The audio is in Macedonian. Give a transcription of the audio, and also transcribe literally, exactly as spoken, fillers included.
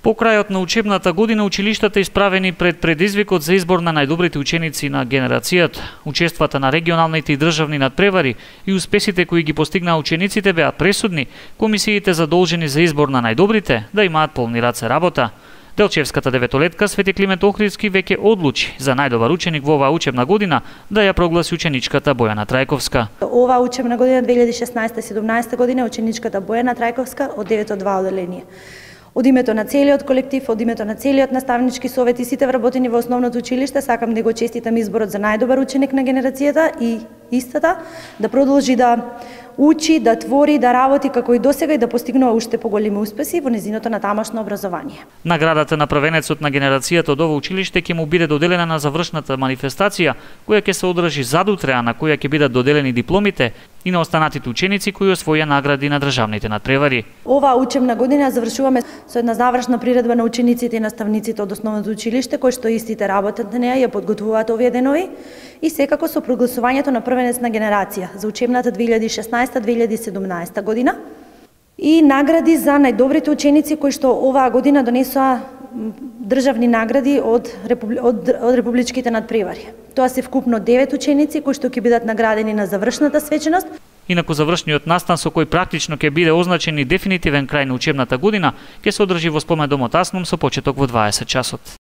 По крајот на учебната година, училиштата исправени пред предизвикот за избор на најдобрите ученици на генерацијата. Учествата на регионалните и државни надпревари и успесите кои ги постигнаа учениците беа пресудни, комисиите задолжени за избор на најдобрите да имаат полни раце работа. Делчевската деветолетка Свети Климент Охридски веќе одлучи за најдобар ученик во оваа учебна година да ја прогласи ученичката Бојана Трајковска. Оваа учебна година две илјади шеснаесета седумнаесета година ученичката Бојана Трајковска од девет два оделение. Од името на целиот колектив, од името на целиот наставнички совет и сите вработени во основното училиште, сакам да го честитам изборот за најдобар ученик на генерацијата и истата да продолжи да учи, да твори, да работи како и досега и да постигнува уште поголеми успеси во незиното натамошно образование. Наградата на првенецот на генерацијата од ова училиште ќе му биде доделена на завршната манифестација, која ќе се одржи задутре, а на која ќе бидат доделени дипломите и на останатите ученици кои освоја награди на државните надпревари. Оваа учебна година завршуваме со една завршна приредба на учениците и наставниците од основното училиште, кои што истите работат на неа, ја подготвуваат овие денови и секако со прогласувањето на првенец на генерација за учебната две илјади шеснаесета две илјади седумнаесета година и награди за најдобрите ученици кои што оваа година донесоа државни награди од, републи... од, од републичките надпревари. Тоа се вкупно девет ученици кои што ќе бидат наградени на завршната свеченост. Инаку завршниот настан со кој практично ќе биде означен и дефинитивен крај на учебната година ќе се одржи во спомен домот Аснум со почеток во дваесет часот.